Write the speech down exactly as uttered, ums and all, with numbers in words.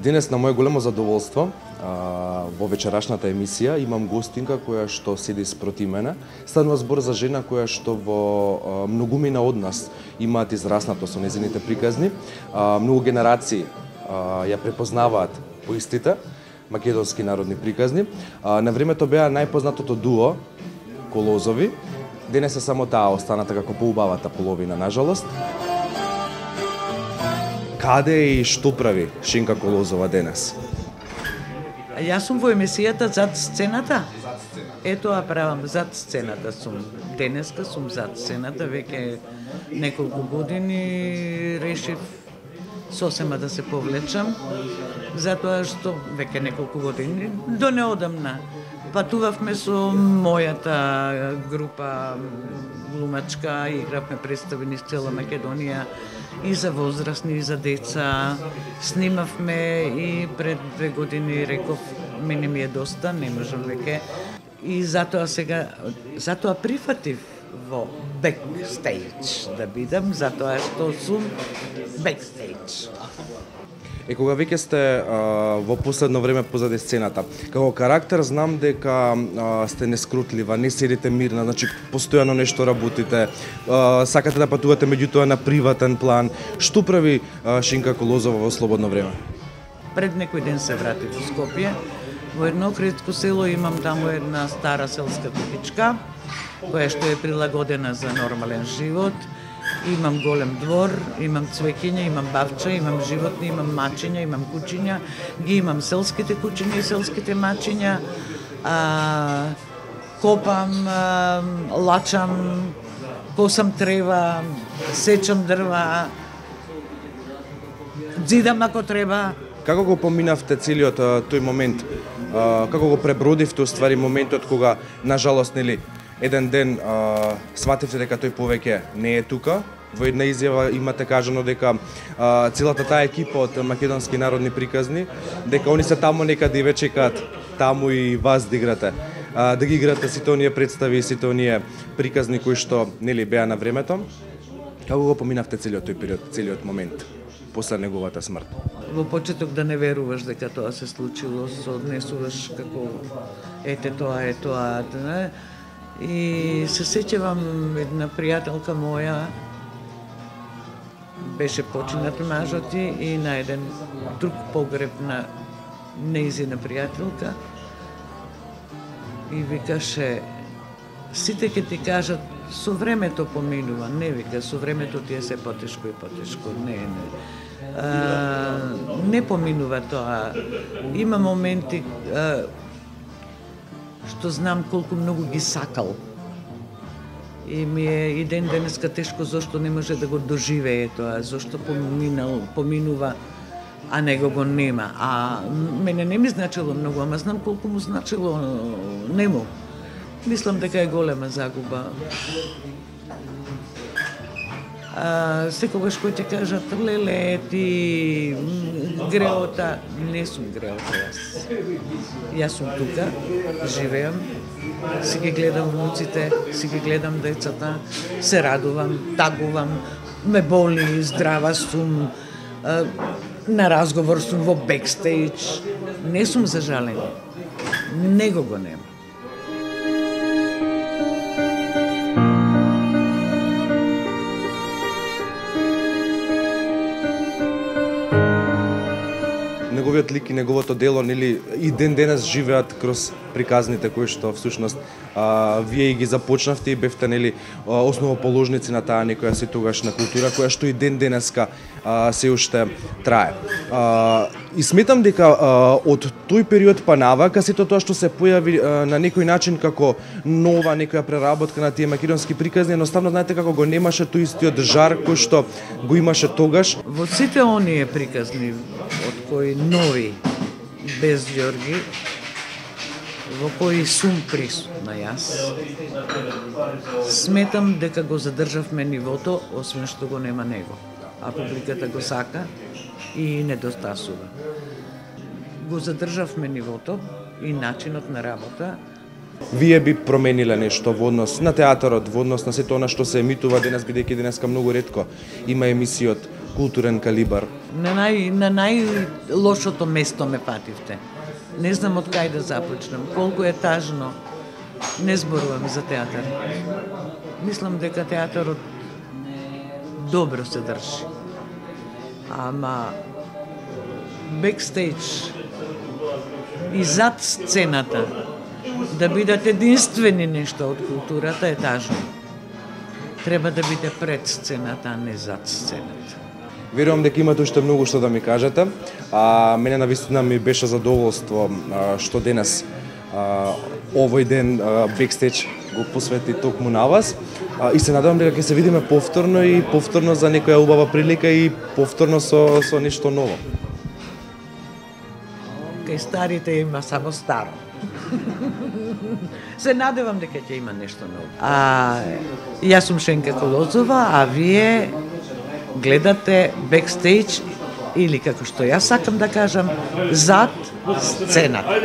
Денес на моje големо задоволство во вечерашната емисија имам гостинка која што седи спроти мене. Станува збор за жена која што во многумина од нас имаат израснато со незините приказни. Многу генерации ја препознаваат по истите македонски народни приказни. На времето беа најпознатото дуо Колозови. Денес е само таа останата како поубавата половина, нажалост. Каде и што прави Шинка Колозова денес? Јас сум во емисијата зад сцената. Ето а правам зад сцената сум. Денеска сум зад сцената, веќе неколку години решив сосема да се повлечам, затоа што веќе неколку години до неодамна патувавме со мојата група глумачка, игравме представи низ цела Македонија и за возрастни, и за деца. Снимавме и пред две години реков, мене ми е доста, не можам веќе. И затоа сега, затоа прифатив во бекстејдж да бидам, затоа што сум бекстејдж. Е, кога веќе сте а, во последно време позади сцената, како карактер знам дека а, сте нескрутлива, не седите мирна, значи постојано нешто работите, а, сакате да патувате меѓутоа на приватен план. Што прави а, Шинка Колозова во слободно време? Пред некој ден се вратив во Скопје. Во едно кретко село имам таму една стара селска куќичка, која што е прилагодена за нормален живот. Имам голем двор, имам цвеќиња, имам бавча, имам животни, имам мачиња, имам кучиња, ги имам селските кучиња и селските мачиња, а, копам, а, лачам, косам трева, сечам дрва, дзидам ако треба. Како го поминавте целиот тој момент? А, како го пребродивте уствари моментот кога, нажалост, нели, еден ден а, свативте дека тој повеќе не е тука? Во една изјава имате кажано дека а, целата таа екипа од македонски народни приказни, дека они се таму некаде и ве чекаат таму и вас да играте. А, да ги играте сите оние представи и сите оние приказни кои што нели беа на времето. Како го поминавте целиот тој период, целиот момент после неговата смрт? Во почеток да не веруваш дека тоа се случило, се однесуваш како ете тоа, е тоа, не? И се сеќавам една пријателка моја, беше починат мажот и на еден друг погреб на нејзина пријателка и викаше, сите ќе ти кажат, со времето поминува, не вика, со времето ти е се потешко и потешко, не, не. А, не поминува тоа. Има моменти а, што знам колку многу ги сакал. И ми е и ден денеска тешко зашто не може да го доживее тоа, зашто поминал, поминува, а него го нема. А мене не ми значило многу, ама знам колку му значило нему. Мислам дека е голема загуба. А, секогаш кој ќе кажат, леле, ти греота, не сум греота јас. Јас сум тука, живеам, си ги гледам внуците, си ги гледам децата, се радувам, тагувам, ме боли, здрава сум, а, на разговор сум во бекстејдж, не сум зажален, него го нема. Неговиот лик и неговото дело, нели, и ден денес живеат кроз приказните кои што всушност а, вие ги започнавте и бевте, нели, основоположници на таа некоја си тогашна култура која што и ден денеска а, се уште трае. А, и сметам дека а, од тој период па навака сето тоа што се појави а, на некој начин како нова некоја преработка на тие македонски приказни, едноставно знаете како го немаше тој истиот жар кој што го имаше тогаш. Во сите оние приказни од кои нови без Ѓорги, во кои сум присутна јас, сметам дека го задржавме нивото, освен што го нема него. А публиката го сака и недостасува. Го задржавме нивото и начинот на работа. Вие би промениле нешто во однос на театарот, во однос на сето она што се емитува денес, бидејќи денеска многу ретко има емисии од културен калибар? На нај на најлошото место ме пативте. Не знам од кај да започнем, колку е тажно. Не зборувам за театар. Мислам дека театарот добро се држи. Ама бекстејдж и зад сцената да бидат единствени нешто од културата е тажно. Треба да биде пред сцената, а не зад сцената. Верувам дека имате уште многу што да ми кажете. А мене навистина ми беше задоволство а, што денес а, овој ден бекстејдж го посвети токму на вас. А, и се надевам дека ќе се видиме повторно и повторно за некоја убава прилика и повторно со со нешто ново. Кај старите има само старо. Се надевам дека ќе има нешто ново. А јас сум Шенка Колозова, а вие гледате бекстејдж или како што јас сакам да кажам, зад сцената.